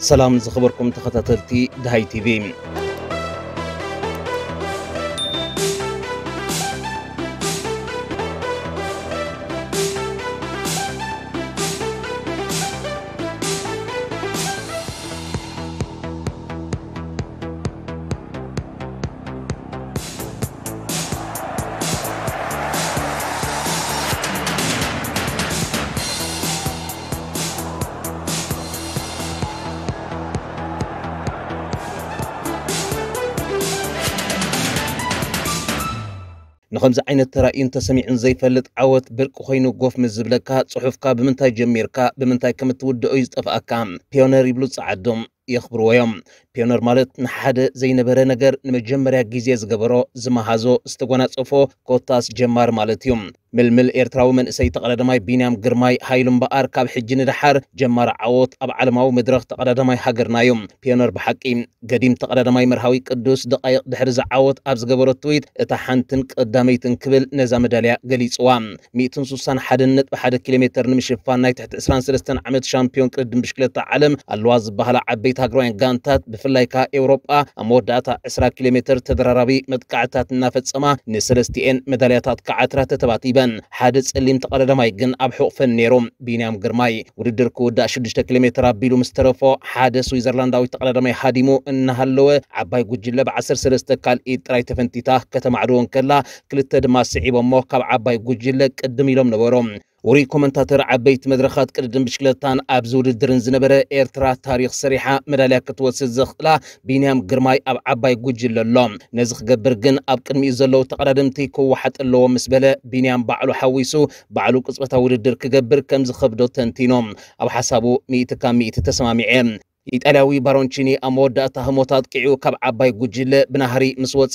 ሰላም ዝኸበርኩም ተኸታተልቲ ደሃይ ቲቪ። ንኸምዚ ዓይነት ተራእዩን ተሰሚዑን ዘይፈልጥ ዓወት ብርቂ ኮይኑ ጎፍ ምስ ዝብለካ፣ ጽሑፍካ ብምንታይ ጀሚርካ ብምንታይ ከም እትውድኦ እዩ ዝጠፍኣካ። ፒዮነር ይብሉ ጸዓዶም የኽብርዎ እዮም። ፒዮነር ማለት ንሓደ ዘይነበረ ነገር ንመጀመርያ ግዜ ዝገበሮ፣ ዝመሃዞ፣ ዝተጎናጸፎ፣ ኮታስ ጀማሪ ማለት እዩ። ምልምል ኤርትራዊ መንእሰይ ተቐዳዳማይ ቢንያም ግርማይ ሃይሉ እምበኣር፣ ካብ ሕጂ ንደሓር ጀማሪ ዓወት ኣብ ዓለማዊ መድረኽ ተቐዳዳማይ ሃገርና እዩ። ፒዮነር ብሓቂ። ገዲም ተቐዳዳማይ መርሃዊ ቅዱስ ደቓይቕ ድሕሪ ዝዓወት ኣብ ዝገበሮ ትዊት፣ "እታ ሓንትን ቀዳመይትን" ክብል ነዛ መዳልያ ገሊጽዋ። ሚእትን ስሳን ሓደን ነጥቢ ሓደ ኪሎ ሜተር ንምሽፋን ናይ ትሕቲ ዕስራን ሰለስተን ዓመት ሻምፒዮን ቅድድም ብሽክለታ ዓለም ኣለዋ ዝበሃላ ዓበይቲ ሃገራውያን ጋንታት፣ ብፍላይ ከኣ ኤውሮጳ፣ ኣብ መወዳእታ ዕስራ ኪሎ ሜተር ተደራራቢ መጥቃዕታት እናፈጸማ ንሰለስቲኤን መዳልያታት ክዓትራ ተተባቲበን። ሓደ ጸሊም ተቐዳዳማይ ግን ኣብ ሕቑፈን ነይሩ፣ ቢንያም ግርማይ። ውድድር ክውዳእ ሽዱሽተ ኪሎ ሜተር ኣቢሉ ምስ ተረፎ፣ ሓደ ስዊዘርላንዳዊ ተቐዳዳማይ ሃዲሙ እናሃለወ፣ ዓባይ ጉጅለ ብዓሰርተ ሰለስተ ካልኢት ጥራይ ተፈንቲታ ከተማዕድዎ እንከላ፣ ክልተ ድማ ስዒቦሞ ካብ ዓባይ ጉጅለ ቅድም ኢሎም ነበሩ። ውሩይ ኮመንታተር ዓበይቲ መድረኻት ቅድድም ብሽክለታን ኣብዚ ውድድርን ዝነበረ፣ ኤርትራ ታሪኽ ሰሪሓ መዳልያ ክትወስድ ዘኽእላ ቢንያም ግርማይ ኣብ ዓባይ ጉጅለ ኣሎ። ነዚ ክገብር ግን ኣብ ቅድሚኡ ዘለዉ ተቐዳደምቲ ክወሓጥ ኣለዎ ምስ በለ፣ ቢንያም ባዕሉ ሓዊሱ ባዕሉ ቅጽበታዊ ውድድር ክገብር ከም ዝኸብዶ ተንቲኖም። ኣብ ሓሳቡ ሚእቲ ካብ ሚእቲ ተሰማሚዐ። ኢጣልያዊ ባሮንቺኒ ኣብ መወዳእታ ህሞት ኣጥቂዑ ካብ ዓባይ ጉጅለ ብናህሪ ምስ ወጸ፣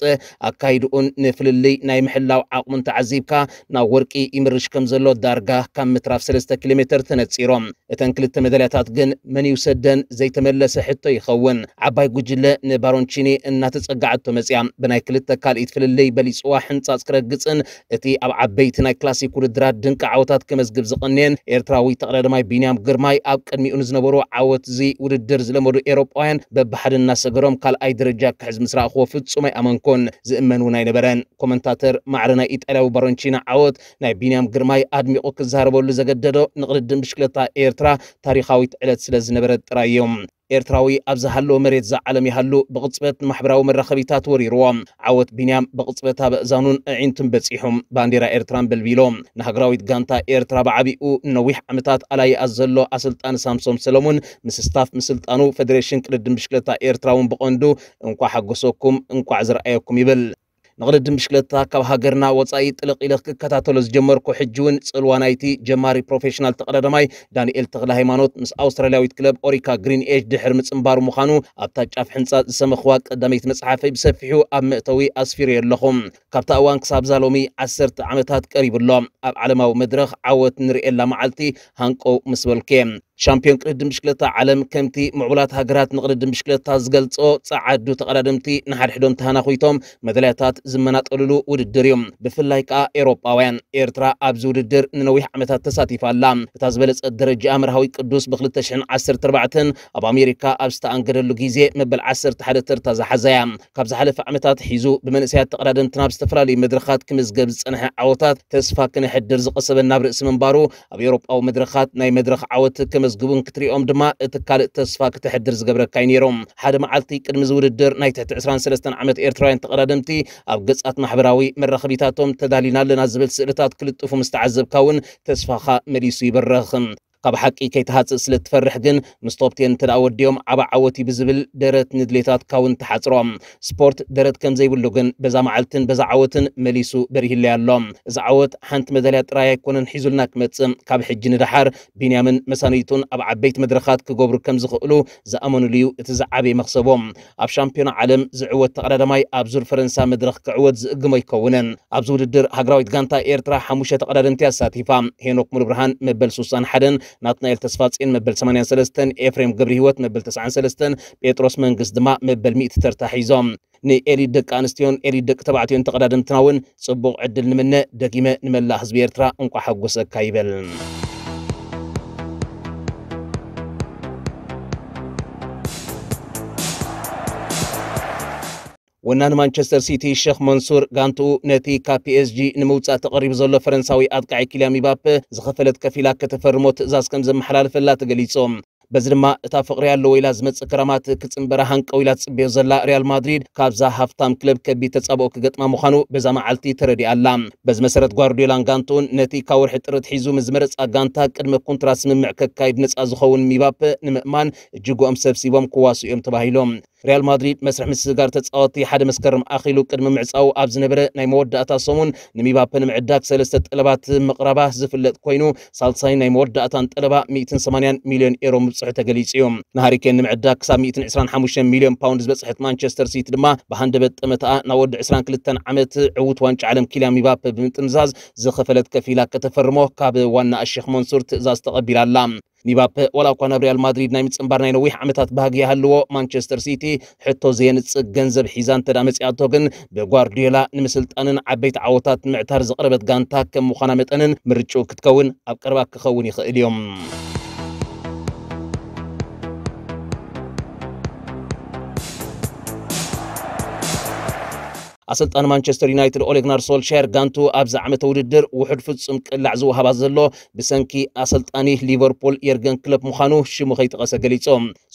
ኣካይድኡን ንፍልልይ ናይ ምሕላው ዓቕሙን ተዓዚብካ፣ ናብ ወርቂ ይምርሽ ከም ዘሎ ዳርጋ ካብ ምትራፍ ሰለስተ ኪሎ ሜተር ተነጺሮም። እተን ክልተ መዳልያታት ግን መን ይውሰደን ዘይተመለሰ ሕቶ ይኸውን። ዓባይ ጉጅለ ንባሮንቺኒ እናተጸጋዓቶ መጽያ፣ ብናይ ክልተ ካልኢት ፍልልይ በሊጽዋ ሕንጻጽ ክረግጽን እቲ ኣብ ዓበይቲ ናይ ክላሲክ ውድድራት ድንቂ ዓወታት ከመዝግብ ዝቐንየን ኤርትራዊ ተቐዳዳማይ ቢንያም ግርማይ ኣብ ቅድሚኡ ንዝነበሩ ዓወት እዚ ውድድር ዝለመዱ ኤውሮጳውያን በብሓደ እናሰገሮም ካልኣይ ደረጃ ክሕዝ ምስ ረኣኽዎ ፍጹም ኣይኣመንኩን። ዝእመን እውን ኣይነበረን። ኮመንታተር ማዕረ ናይ ኢጣልያዊ ባሮንቺና ዓወት ናይ ቢንያም ግርማይ ኣድሚቑ ክዛረበሉ ዘገደዶ ንቕድድም ብሽክለታ ኤርትራ ታሪኻዊት ዕለት ስለ ዝነበረት ጥራይ እዩ። ኤርትራዊ ኣብ ዝሃለወ መሬት እዛ ዓለም ይሃሉ ብቕጽበት ንማሕበራዊ መራኸቢታት ወሪርዎ። ዓወት ቢንያም ብቕጽበት ኣብ ኣእዛኑን ኣዒንቱን በጺሑ። ባንዴራ ኤርትራ ኣንበልቢሉ። ንሃገራዊት ጋንታ ኤርትራ ብዓቢኡ ንነዊሕ ዓመታት ኣላይኣ ዘሎ ኣሰልጣኒ ሳምሶም ሰለሙን ምስ ስታፍ ምስልጣኑ፣ ፈደሬሽን ቅድድም ብሽክለታ ኤርትራ እውን ብቐንዱ እንቋዕ ሓጎሰኩም፣ እንቋዕ ዝረኣየኩም ይብል። ንቕድድም ብሽክለታ ካብ ሃገርና ወጻኢ ጥልቕ ኢለ ክከታተሎ ዝጀመርኩ ሕጂ እውን ጽልዋ ናይቲ ጀማሪ ፕሮፌሽናል ተቐዳዳማይ ዳንኤል ተኽለ ሃይማኖት ምስ ኣውስትራልያዊት ክለብ ኦሪካ ግሪን ኤጅ ድሕሪ ምጽንባሩ ምዃኑ ኣብታ ጫፍ ሕንጻጽ ዝሰመኽዋ ቀዳመይቲ መጽሓፈይ ብሰፊሑ ኣብ መእተዊ ኣስፊረዮ ኣለኹ። ካብታ እዋን ክሳብ እዛ ሎሚ ዓሰርተ ዓመታት ቀሪቡ ኣሎ። ኣብ ዓለማዊ መድረኽ ዓወት ንርእየላ መዓልቲ ሃንቀው ምስ በልኩ እየ። ሻምፒዮን ቅድድም ብሽክለታ ዓለም ከምቲ ምዕቡላት ሃገራት ንቅድድም ብሽክለታ ዝገልጾ፣ ጸዓዱ ተቐዳደምቲ ንሓድሕዶም ተሃናኹይቶም መዳልያታት ዝመናጠሉሉ ውድድር እዩ። ብፍላይ ከኣ ኤውሮጳውያን። ኤርትራ ኣብዚ ውድድር ንነዊሕ ዓመታት ተሳቲፋ ኣላ። እታ ዝበለጸት ደረጃኣ መርሃዊ ቅዱስ ብ ክልተ ሽሕን ዓሰርተ ኣርባዕተን ኣብ ኣሜሪካ ኣብ ዝተኣንገደሉ ግዜ መበል ዓሰርተ ሓደ ተርታ ዝሓዘ እያ። ካብ ዝሓለፈ ዓመታት ሒዙ ብመንእሰያት ተቐዳደምቲ ናብ ዝተፈላለዩ መድረኻት ክምዝገብ ዝጸንሐ ዓወታት ተስፋ ክነሕድር ዝቐሰበ ናብ ርእሲ ምንባሩ፣ ኣብ ኤውሮጳዊ መድረኻት ናይ መድረኽ ዓወት ከመዝግቡን ክትሪኦም ድማ እቲ ካልእ ተስፋ ክተሕድር ዝገብረካ እዩ ነይሩ። ሓደ መዓልቲ ቅድሚ እዚ ውድድር ናይ ትሕቲ ዕስራን ሰለስተን ዓመት ኤርትራውያን ተቐዳደምቲ ኣብ ገጻት ማሕበራዊ መራኸቢታቶም ተዳሊና ኣለና ዝብል ስእልታት ክልጥፉ ምስ ተዓዘብካ እውን ተስፋኻ መሊሱ ይበርኽ። ካብ ሓቂ ከይትሃጽእ ስለ እትፈርሕ ግን፣ ምስ ቶፕ ቴን እንተ ደኣ ወዲኦም ዓቢ ዓወት እዩ ብዝብል ደረት ንድሌታትካ እውን ትሓጽሮ። ስፖርት ደረት ከም ዘይብሉ ግን፣ በዛ መዓልትን በዛ ዓወትን መሊሱ በሪህለይ ኣሎ። እዚ ዓወት ሓንቲ መዳልያ ጥራይ ኣይኮነን ሒዙልና ክመጽእ። ካብ ሕጂ ንደሓር ቢንያምን መሳንይቱን ኣብ ዓበይቲ መድረኻት ክገብሩ ከም ዝኽእሉ ዝኣመኑሉ እዩ እቲ ዝዓበየ መኽሰቦም። ኣብ ሻምፒዮና ዓለም ዝዕወት ተቐዳዳማይ ኣብ ዙር ፈረንሳ መድረኽ ክዕወት ዝእግሞ ኣይከውንን። ኣብዚ ውድድር ሃገራዊት ጋንታ ኤርትራ ሓሙሽተ ተቐዳደምቲ ኣሳቲፋ። ሄኖክ ሙሉብርሃን መበል ስሳን ሓደን፣ ናትናኤል ተስፋጽዮን መበል ሰማንያን ሰለስተን፣ ኤፍሬም ገብረህይወት መበል ተስዓን ሰለስተን፣ ጴጥሮስ መንግስት ድማ መበል ሚእቲ ተርታ ሒዞም። ንኤሊት ደቂ ኣንስትዮን ኤሊት ደቂ ተባዕትዮን ተቐዳደምትና እውን ጽቡቕ ዕድል ንምነ። ደጊመ ንመላእ ህዝቢ ኤርትራ እንቋዕ ሓጎሰካ ይበል። ወናኒ ማንቸስተር ሲቲ ሸኽ መንሱር፣ ጋንትኡ ነቲ ካብ ፒ ኤስ ጂ ንምውጻእ ተቐሪቡ ዘሎ ፈረንሳዊ ኣጥቃዒ ኪልያን ሚባፔ ዝኸፈለት ከፊላ ከተፈርሞ ትእዛዝ ከም ዘመሓላለፈላ ተገሊጹ። በዚ ድማ እታ ፍቕሪ ኣለዎ ኢላ ዝመጽእ ክራማት ክጽንበራ ሃንቀው ኢላ ትጽበዮ ዘላ ሪያል ማድሪድ፣ ካብዛ ሃፍታም ክለብ ከቢድ ተጻብኦ ክገጥማ ምዃኑ በዛ መዓልቲ ተረዲኣ ኣላ። በዚ መሰረት፣ ጓርዲዮላን ጋንትኡን ነቲ ካብ ወርሒ ጥሪ ኣትሒዙ ምስ ዝመረጻ ጋንታ ቅድመ ኮንትራት ስምምዕ ከካይድ ነጻ ዝኸውን ሚባፔ ንምእማን እጅግኦም ሰብሲቦም ክዋስኡ እዮም ተባሂሎም። ሪያል ማድሪድ መስርሕ ምስግጋር ተጻወትቲ ሓደ መስከረም ኣኺሉ ቅድሚ ምዕጻው ኣብ ዝነበረ ናይ መወዳእታ ሰሙን፣ ንሚባፔ ንምዕዳግ ሰለስተ ጠለባት ምቕራባ ዝፍለጥ ኮይኑ፣ ሳልሳይ ናይ መወዳእታን ጠለባ ሚእትን ሰማንያን ሚልዮን ኤሮ ምብጽሑ ተገሊጹ እዩ። ንሃሪኬን ንምዕዳግ ክሳብ ሚእትን ዕስራን ሓሙሽተን ሚልዮን ፓውንድ ዝበጽሐት ማንቸስተር ሲቲ ድማ፣ ብሃንደበት ጠመትኣ ናብ ወዲ ዕስራን ክልተን ዓመት ዕዉት ዋንጫ ዓለም ኪልያን ሚባፔ ብምጥምዛዝ ዝኸፈለት ከፊላ ከተፈርሞ ካብ ዋና ኣሸኽ መንሱር ትእዛዝ ተቐቢላ ኣላ። ሚባፔ ዋላ እኳ ናብ ሪያል ማድሪድ ናይ ምጽንባር ናይ ነዊሕ ዓመታት ባህጊ ይሃልዎ፣ ማንቸስተር ሲቲ ሕቶ ዘየንጽግ ገንዘብ ሒዛ እንተ ደኣ መጺኣቶ ግን፣ ብጓርዲዮላ ንምስልጣንን ዓበይቲ ዓወታት ንምዕታር ዝቐረበት ጋንታ ከም ምዃና መጠንን፣ ምርጭኡ ክትከውን ኣብ ቀረባ ክኸውን ይኽእል እዩ። ኣሰልጣኒ ማንቸስተር ዩናይትድ ኦሌ ጉናር ሶልሻየር፣ ጋንቱ ኣብዚ ዓመተ ውድድር ውሑድ ፍጹም ቅላዕ ዝወሃባ ዘሎ ብሰንኪ ኣሰልጣኒ ሊቨርፑል የርገን ክለፕ ምዃኑ ሽሙ ከይጠቐሰ ገሊጹ።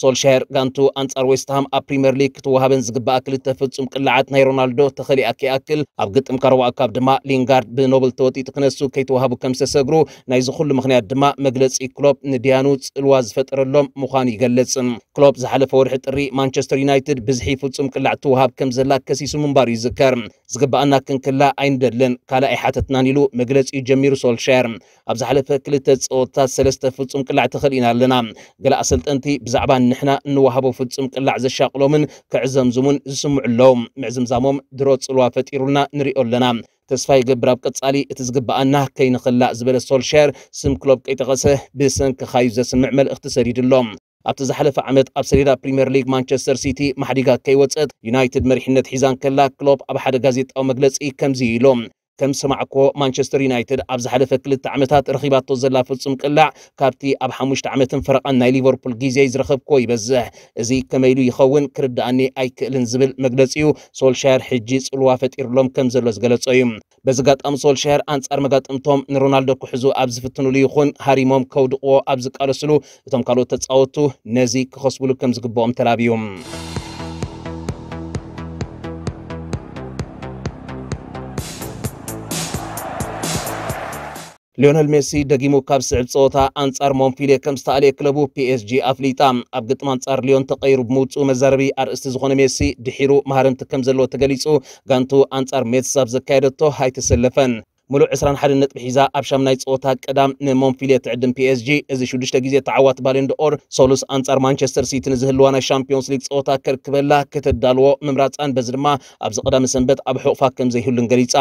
ሶልሻየር፣ ጋንቱ ኣንጻር ዌስትሃም ኣብ ፕሪምየር ሊግ ክትወሃበን ዝግባኣ ክልተ ፍጹም ቅላዓት ናይ ሮናልዶ ተኸሊኣ ከይኣክል፣ ኣብ ግጥም ካረዋ ካፕ ድማ ሊንጋርድ ብኖብል ተወጢጡ ክነሱ ከይተዋህቡ ከም ዝተሰግሩ፣ ናይዚ ኩሉ ምኽንያት ድማ መግለጺ ክሎፕ ንድያኑ ጽልዋ ዝፈጠረሎም ምዃኑ ይገልጽ። ክሎፕ ዝሓለፈ ወርሒ ጥሪ፣ ማንቸስተር ዩናይትድ ብዝሒ ፍጹም ቅላዕ ትወሃብ ከም ዘላ ከሲሱ ምንባሩ ይዝከር። ዝግባኣና ክንክላ ኣይንደልን፣ ካልእ ኣይሓተትናን ኢሉ መግለጺኡ ጀሚሩ ሶልሻየር። ኣብ ዝሓለፈ ክልተ ጸወታት ሰለስተ ፍጹም ቅላዕ ተኸሊእና ኣለና። ገለ ኣሰልጠንቲ ብዛዕባ ንሕና እንወሃቦ ፍጹም ቅላዕ ዘሻቕሎምን ከዕዘምዝሙን ዝስምዑ ኣለዉ። ምዕዝምዛሞም ድሮ ጽልዋ ፈጢሩልና ንሪኦ ኣለና። ተስፋ ይገብር ኣብ ቀጻሊ እቲ ዝግባኣና ከይንኽላእ ዝበለ ሶልሻየር፣ ስም ክሎፕ ከይጠቐሰ ብሰንክኻዩ ዘስምዕ መልእኽቲ ሰዲዱሎ። ኣብቲ ዝሓለፈ ዓመት ኣብ ሰሌዳ ፕሪምየር ሊግ ማንቸስተር ሲቲ ማሕዲጋ ከይወጸት ዩናይትድ መሪሕነት ሒዛ እንከላ፣ ክሎፕ ኣብ ሓደ ጋዜጣዊ መግለጺ ከምዚ ኢሉ፣ ከም ዝሰማዕክዎ፣ ማንቸስተር ዩናይትድ ኣብ ዝሓለፈ ክልተ ዓመታት ረኺባቶ ዘላ ፍጹም ቅላዕ ካብቲ ኣብ ሓሙሽተ ዓመትን ፈረቓን ናይ ሊቨርፑል ግዜይ ዝረኸብክዎ ይበዝሕ። እዚ ከመይ ኢሉ ይኸውን ክርድኣኒ ኣይክእልን ዝብል መግለጺኡ፣ ሶልሻየር ሕጂ ጽልዋ ፈጢሩሎም ከም ዘሎ ዝገለጾ እዩ። በዚ ኣጋጣሚ ሶልሻየር ኣንጻር መጋጥምቶም ንሮናልዶ ክሕዙ ኣብ ዝፍትኑሉ ይኹን ሃሪሞም ከውድቕዎ ኣብ ዝቃለስሉ፣ እቶም ካልኦት ተጻወቱ ነዚ ክኸስብሉ ከም ዝግብኦም ተላብዩ። ሊዮነል ሜሲ ደጊሙ ካብ ስዕብ ጸወታ ኣንጻር ሞንፊልየ ከም ዝተኣልየ ክለቡ ፒ ኤስ ጂ ኣፍሊጣ። ኣብ ግጥም ኣንጻር ሊዮን ተቐይሩ ብምውጽኡ መዛረቢ ኣርእስቲ ዝኾነ ሜሲ፣ ድሒሩ መሃረምቲ ከም ዘለዎ ተገሊጹ፣ ጋንቱ ኣንጻር ሜትስ ኣብ ዘካየደቶ ኣይተሰለፈን። ምሉእ ዕስራን ሓደን ነጥቢ ሒዛ ኣብ ሻምናይ ጸወታ ቀዳም ንሞንፊልየ ትዕድም ፒ ኤስ ጂ፣ እዚ ሽዱሽተ ግዜ ተዓዋቲ ባሎን ዶኦር ሶሉስ ኣንጻር ማንቸስተር ሲቲ ንዝህልዋ ናይ ሻምፒዮንስ ሊግ ጸወታ ከርክበላ ከተዳልዎ ምምራጻን፣ በዚ ድማ ኣብዚ ቀዳሚ ሰንበት ኣብ ሕቑፋ ከም ዘይህሉን ገሊጻ።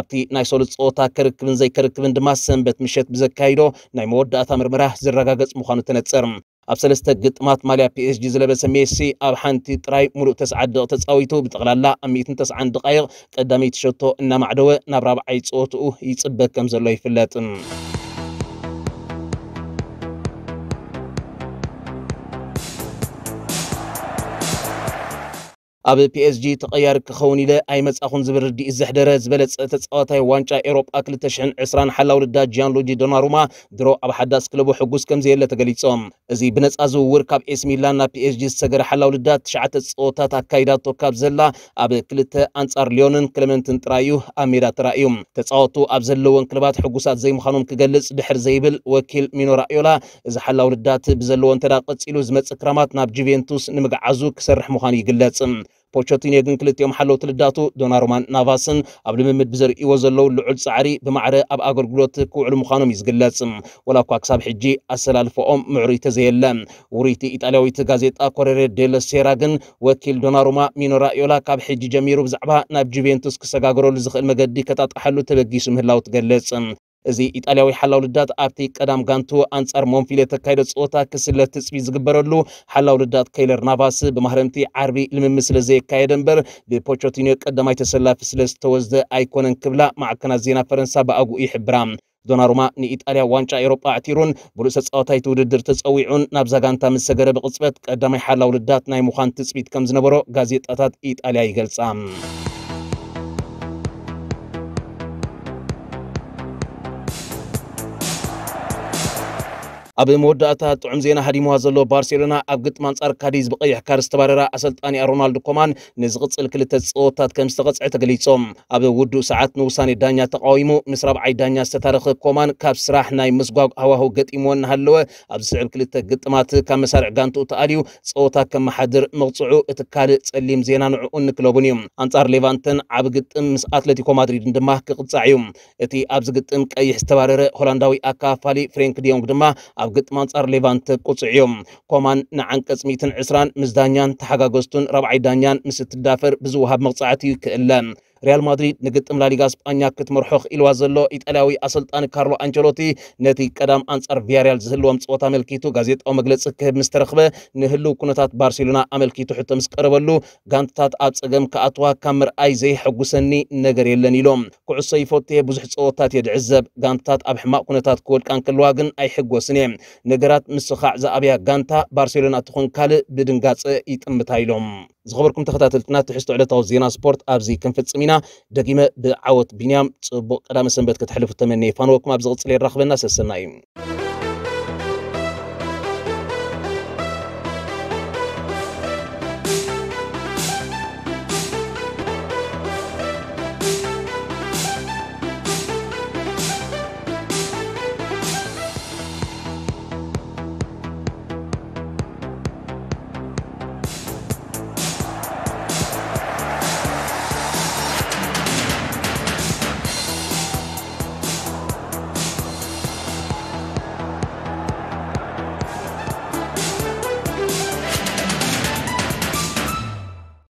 ኣብቲ ናይ ሶሉስ ጸወታ ከርክብን ዘይከርክብን ድማ ሰንበት ምሸት ብዘካይዶ ናይ መወዳእታ ምርመራ ዝረጋገጽ ምዃኑ ተነጽር። ኣብ ሰለስተ ግጥማት ማልያ ፒ ኤስ ጂ ዝለበሰ ሜሲ ኣብ ሓንቲ ጥራይ ሙሉእ ተስዓት ደቂቕ ተጻዊቱ፣ ብጠቕላላ ኣብ ሚእትን ተስዓን ደቓይቕ ቀዳመይቲ ሸቶ እናማዕደወ ናብ ራብዓይ ጸወትኡ ይጽበ ከም ዘሎ ይፍለጥ። ኣብ ፒ ኤስ ጂ ተቐያሪ ክኸውን ኢለ ኣይመጻኹን ዝብል ርድኢት ዘሕደረ ዝበለጸ ተጻዋታይ ዋንጫ ኤውሮጳ ክልተ ሽሕን ዕስራን ሓላው ልዳት ጂያንሉጂ ዶናሩማ ድሮ ኣብ ሓዳስ ክለቡ ሕጉስ ከም ዘየለ ተገሊጾም። እዚ ብነጻ ዝውውር ካብ ኤሲ ሚላን ናብ ፒ ኤስ ጂ ዝሰገረ ሓላው ልዳት ትሽዓተ ጸወታት ኣካይዳቶ ካብ ዘላ ኣብ ክልተ ኣንጻር ሊዮንን ክለመንትን ጥራይ እዩ ኣብ ሜዳ ተራእዩ። ተጻወቱ ኣብ ዘለወን ክለባት ሕጉሳት ዘይምዃኖም ክገልጽ ድሕር ዘይብል ወኪል ሚኖ ራዮላ፣ እዚ ሓላው ልዳት ብዘለዎ እንተ ደኣ ቀጺሉ ዝመጽእ ክራማት ናብ ጁቬንቱስ ንምግዓዙ ክሰርሕ ምዃኑ ይግለጽ። ፖቸቲኖ ግን ክልቲኦም ሓለውቲ ልዳቱ ዶናሩማን ናቫስን ኣብ ልምምድ ብዘርእይዎ ዘለዉ ልዑል ጻዕሪ ብማዕረ ኣብ ኣገልግሎት ክውዕሉ ምዃኖም እዩ ዝግለጽ። ወላ እኳ ክሳብ ሕጂ ኣሰላልፈኦም ምዕሩይ ተዘየለ። ውርይቲ ኢጣልያዊት ጋዜጣ ኮሬሬ ዴለ ሴራ ግን ወኪል ዶናሩማ ሚኖ ራዮላ ካብ ሕጂ ጀሚሩ ብዛዕባ ናብ ጁቬንቱስ ክሰጋገረሉ ዝኽእል መገዲ ከጣጥሓሉ ተበጊሱ ምህላው ትገልጽ። እዚ ኢጣልያዊ ሓላው ልዳት ኣብቲ ቀዳም ጋንቱ ኣንጻር ሞንፊልየ ተካይዶ ጸወታ ክስለ ትጽቢት ዝግበረሉ፣ ሓላው ልዳት ከይለር ናቫስ ብማህረምቲ ዓርቢ ልምምድ ስለ ዘየካየደ እምበር ብፖቸቲኖ ቀዳማይ ተሰላፊ ስለ ዝተወስደ ኣይኮነን ክብላ ማዕከናት ዜና ፈረንሳ ብኣግኡ ይሕብራ። ዶናሩማ ንኢጣልያ ዋንጫ ኤውሮጳ ኣዕቲሩን ብሉእ ተጻዋታይ እቲ ውድድር ተጸዊዑን ናብዛ ጋንታ ምስ ሰገረ ብቕጽበት ቀዳማይ ሓላው ልዳት ናይ ምዃን ትጽቢት ከም ዝነበሮ ጋዜጣታት ኢጣልያ ይገልጻ። ኣብ መወዳእታ ጥዑም ዜና ሃዲምዋ ዘሎ ባርሴሎና ኣብ ግጥም ኣንጻር ካዲዝ ብቐይሕ ካርድ ዝተባረራ ኣሰልጣኒኣ ሮናልዶ ኮማን ንዝቕጽል ክልተ ጸወታት ከም ዝተቐጽዐ ተገሊጾም። ኣብ ውዱእ ሰዓት ንውሳኔ ዳኛ ተቃዊሙ ምስ ራብዓይ ዳኛ ዝተታረኸ ኮማን ካብ ስራሕ ናይ ምስጓግ ሃዋህው ገጢምዎ እናሃለወ ኣብ ዝስዕብ ክልተ ግጥማት ካብ መሳርዕ ጋንትኡ ተኣልዩ ጸወታ ከመሓድር መቕጽዑ እቲ ካልእ ጸሊም ዜና ንዕኡን ንክለቡን እዩ። ኣንጻር ሌቫንተን ዓቢ ግጥም ምስ ኣትሌቲኮ ማድሪድን ድማ ክቕጻዕ እዩ። እቲ ኣብዚ ግጥም ቀይሕ ዝተባረረ ሆላንዳዊ ኣካፋሊ ፍሬንክ ዲዮንግ ድማ ኣብ ግጥም ኣንጻር ሌቫንተ ቅጹዕ እዩ። ኮማን ንዓንቀጽ ሚእትን ዕስራን ምስ ዳኛን ተሓጋገዝቱን ራብዓይ ዳኛን ምስ እትዳፈር ብዝወሃብ መቕጻዕቲ እዩ ክእለ። ሪያል ማድሪድ ንግጥም ላሊጋ ስጳኛ ክትመርሖ ክኢልዋ ዘሎ ኢጣልያዊ ኣሰልጣኒ ካርሎ ኣንቸሎቲ ነቲ ቀዳም ኣንጻር ቪያሪያል ዝህልዎም ጸወታ ኣመልኪቱ ጋዜጣዊ መግለጺ ክህብ ምስ ተረኽበ ንህልው ኩነታት ባርሴሎና ኣመልኪቱ ሕቶ ምስ ቀረበሉ ጋንትታት ኣብ ጸገም ክኣትዋ ካብ ምርኣይ ዘይሐጉሰኒ ነገር የለን ኢሎም። ኩዕሶ ይፈቱ እየ፣ ብዙሕ ጸወታት እየ ድዕዘብ። ጋንትታት ኣብ ሕማቕ ኩነታት ክወድቃ እንከለዋ ግን ኣይሕጎስን እየ። ነገራት ምስኻዕ ዝኣብያ ጋንታ ባርሴሎና ትኹን ካልእ ብድንጋጸ ይጥምታ ኢሎም። ዝኸበርኩም ተኸታተልትና ትሕዝቶ ዕለታዊ ዜና ስፖርት ኣብዚ ክንፍጽም ኢና። ደጊመ ብዓወት ቢንያም ጽቡቕ ቀዳመ ሰንበት ከተሕልፉ ተመንየ። ፋንወኩም ኣብ ዝቕጽል የራኽበና። ሰሰናዩ።